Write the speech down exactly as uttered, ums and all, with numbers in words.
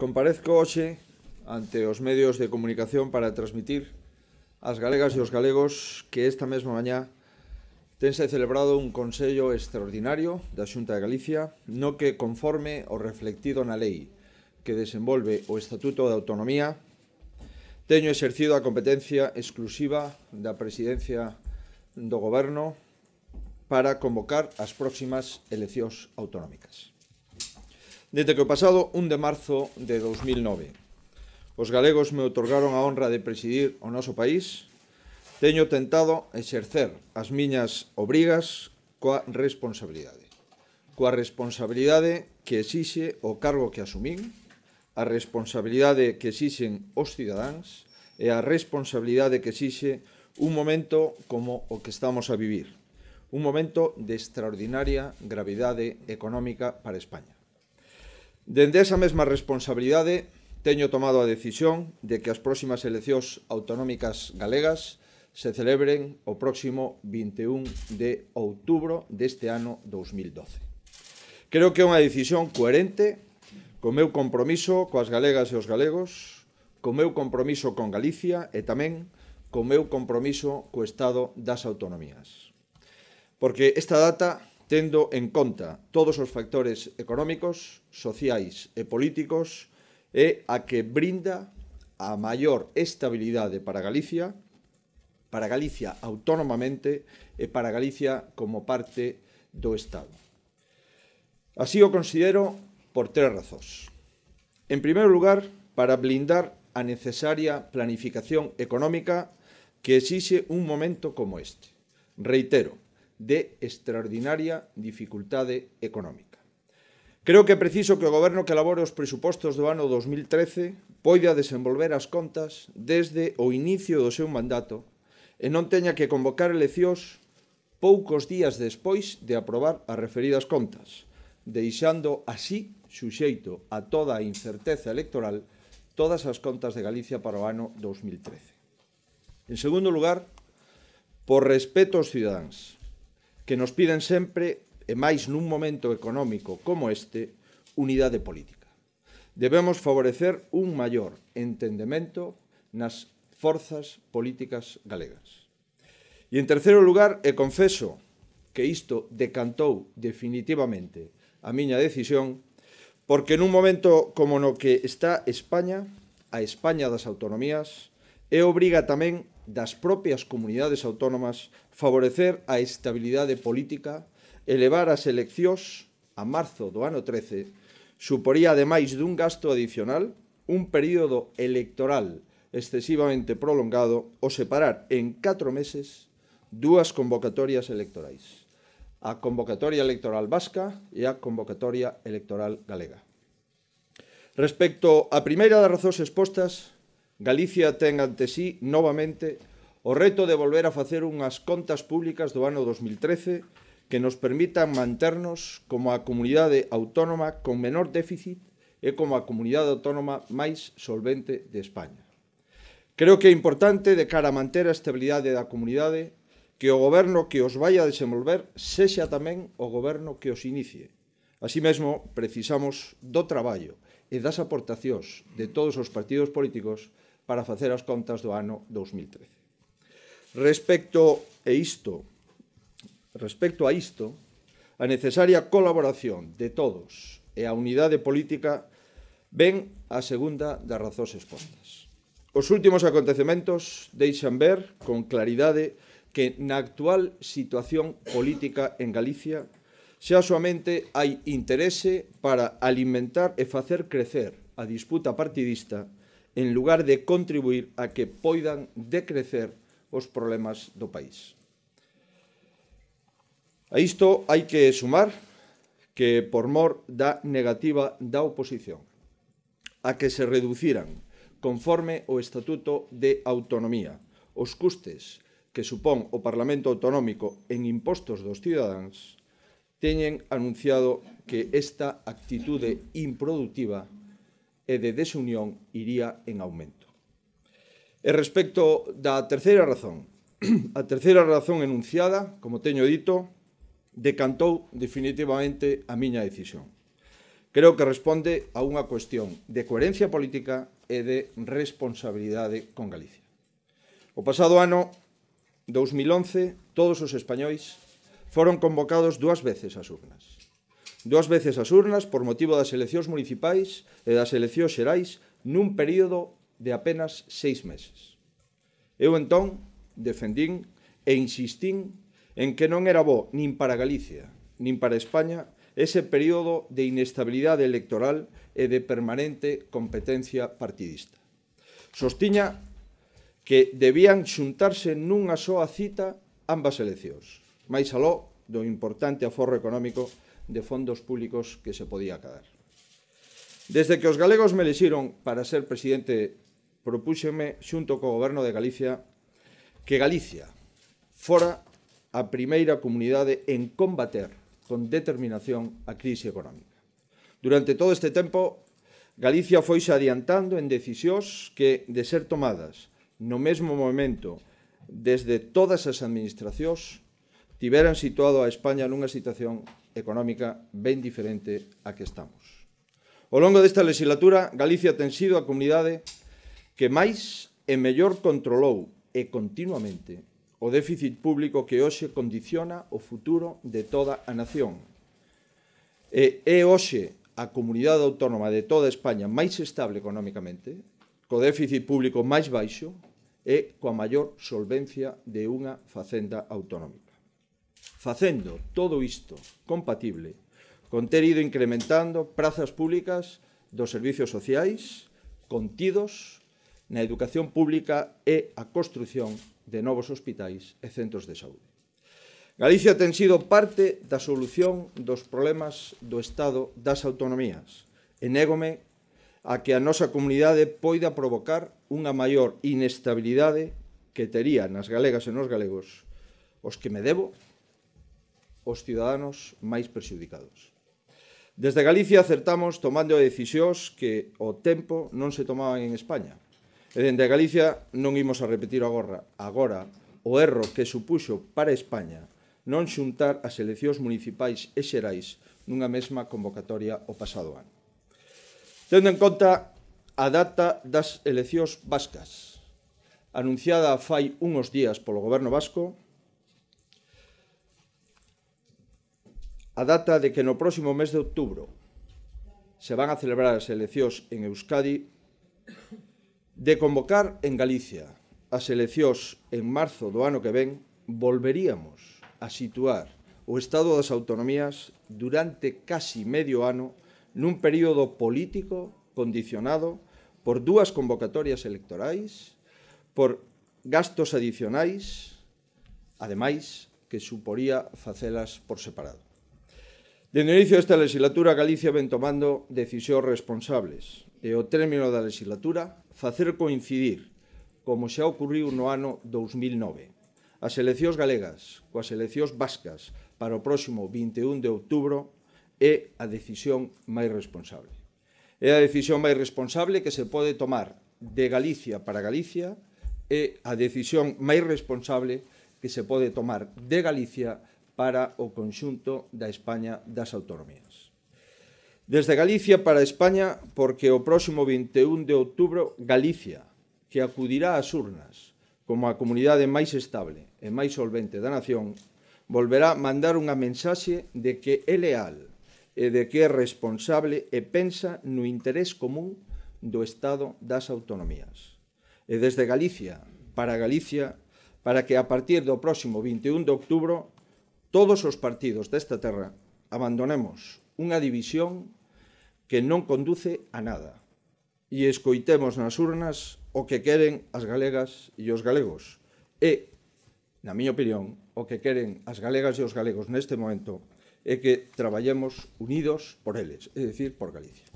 Comparezco hoxe ante os medios de comunicación para transmitir ás galegas e aos galegos que esta mesma mañá tense celebrado un Consello extraordinario da Xunta de Galicia no que, conforme o reflectido na lei que desenvolve o Estatuto de Autonomía, teño exercido a competencia exclusiva da Presidencia do Goberno para convocar as próximas eleccións autonómicas. Desde que o pasado un de marzo de dous mil nove os galegos me outorgaron a honra de presidir o noso país, teño tentado exercer as miñas obrigas coa responsabilidade. Coa responsabilidade que exixe o cargo que asumín, a responsabilidade que exixen os cidadáns e a responsabilidade que exixe un momento como o que estamos a vivir, un momento de extraordinaria gravidade económica para España. Dende esa mesma responsabilidade, teño tomado a decisión de que as próximas eleccións autonómicas galegas se celebren o próximo vinte e un de outubro deste ano dous mil doce. Creo que é unha decisión coherente co meu compromiso coas galegas e os galegos, co meu compromiso con Galicia e tamén co meu compromiso co Estado das Autonomías. Porque esta data, tendo en conta todos os factores económicos, sociais e políticos, é a que brinda a maior estabilidade para Galicia, para Galicia autónomamente e para Galicia como parte do Estado. Así o considero por tres razóns. En primeiro lugar, para blindar a necesaria planificación económica que exixe un momento como este. Reitero, de extraordinaria dificultade económica. Creo que é preciso que o Goberno que elabore os presupostos do ano dous mil trece poida desenvolver as contas desde o inicio do seu mandato e non teña que convocar eleccións poucos días despois de aprobar as referidas contas, deixando así suxeito a toda a incerteza electoral todas as contas de Galicia para o ano dous mil trece. En segundo lugar, por respeto aos cidadáns, que nos piden sempre, e máis nun momento económico como este, unidade política. Debemos favorecer un maior entendemento nas forzas políticas galegas. E, en terceiro lugar, e confeso que isto decantou definitivamente a miña decisión, porque nun momento como no que está España, a España das autonomías, é obriga tamén das propias comunidades autónomas favorecer a estabilidade política e levar as eleccións a marzo do ano trece suporía, ademais dun gasto adicional, un período electoral excesivamente prolongado o separar en catro meses dúas convocatorias electorais, a convocatoria electoral vasca e a convocatoria electoral galega. Respecto á primeira das razóns expostas, Galicia ten ante sí, novamente, o reto de volver a facer unhas contas públicas do ano dous mil trece que nos permitan manternos como a comunidade autónoma con menor déficit e como a comunidade autónoma máis solvente de España. Creo que é importante, de cara a manter a estabilidade da comunidade, que o Goberno que os vai a desenvolver sexa tamén o Goberno que os inicie. Así mesmo, precisamos do traballo e das aportacións de todos os partidos políticos para facer as contas do ano dous mil trece. Respecto a isto, respecto a isto, a necesaria colaboración de todos e a unidade política ven a segunda das razóns expostas. Os últimos acontecementos deixan ver con claridade que na actual situación política en Galicia xa soamente hai interese para alimentar e facer crecer a disputa partidista en lugar de contribuir a que poidan decrecer os problemas do país. A isto hai que sumar que, por mor da negativa da oposición, a que se reduciran, conforme o Estatuto de Autonomía, os custes que supón o Parlamento Autonómico en impostos dos cidadáns, teñen anunciado que esta actitude improductiva e de desunión iría en aumento. E respecto da terceira razón, a terceira razón enunciada, como teño dito, decantou definitivamente a miña decisión. creo que responde a unha cuestión de coherencia política e de responsabilidade con Galicia. O pasado ano dous mil once, todos os españois foron convocados dúas veces ás urnas. Dúas veces ás urnas por motivo das eleccións municipais e das eleccións xerais nun período de apenas seis meses. Eu entón defendín e insistín en que non era bo nin para Galicia, nin para España, ese período de inestabilidade electoral e de permanente competencia partidista. Sostiña que debían xuntarse nunha soa cita ambas eleccións, máis aló do importante aforro económico de fondos públicos que se podía cadar. Desde que os galegos me elixiron para ser presidente, propúxeme, xunto co Goberno de Galicia, que Galicia fora a primeira comunidade en combater con determinación a crise económica. Durante todo este tempo, Galicia foise adiantando en decisións que, de ser tomadas no mesmo momento desde todas as administracións, tiveran situado a España nunha situación económica ben diferente a que estamos. Ao longo desta legislatura, Galicia ten sido a comunidade que máis e mellor controlou e continuamente o déficit público que hoxe condiciona o futuro de toda a nación. E é hoxe a comunidade autónoma de toda España máis estable económicamente, co déficit público máis baixo e coa maior solvencia de unha facenda autonómica. Facendo todo isto compatible con ter ido incrementando prazas públicas dos servizos sociais contidos na educación pública e a construción de novos hospitais e centros de saúde. Galicia ten sido parte da solución dos problemas do Estado das autonomías e négome a que a nosa comunidade poida provocar unha maior inestabilidade que tería nas galegas e nos galegos os que me debo, os ciudadanos máis prexudicados. Desde Galicia acertamos tomando decisións que ao tempo non se tomaban en España. E dende Galicia non imos a repetir agora, agora o erro que supuxo para España non xuntar as eleccións municipais e xerais nunha mesma convocatoria o pasado ano. Tendo en conta a data das eleccións vascas, anunciada fai uns días polo Goberno vasco, a data de que no próximo mes de outubro se van a celebrar as eleccións en Euskadi, de convocar en Galicia as eleccións en marzo do ano que ven, volveríamos a situar o Estado das Autonomías durante casi medio ano nun período político condicionado por dúas convocatorias electorais, por gastos adicionais, ademais que suporía facelas por separado. Dende o inicio desta legislatura, Galicia ven tomando decisións responsables e ao término da legislatura facer coincidir, como xa ocurriu no ano dous mil nove, as eleccións galegas coas eleccións vascas para o próximo vinte e un de outubro é a decisión máis responsable. É a decisión máis responsable que se pode tomar de Galicia para Galicia e a decisión máis responsable que se pode tomar de Galicia para o conxunto da España das autonomías. Desde Galicia para España, porque o próximo vinte e un de outubro, Galicia, que acudirá ás urnas como a comunidade máis estable e máis solvente da nación, volverá mandar unha mensaxe de que é leal e de que é responsable e pensa no interés común do Estado das autonomías. E desde Galicia para Galicia, para que a partir do próximo vinte e un de outubro todos os partidos desta terra abandonemos unha división que non conduce a nada e escoitemos nas urnas o que queren as galegas e os galegos e, na miña opinión, o que queren as galegas e os galegos neste momento é que traballemos unidos por eles, é dicir, por Galicia.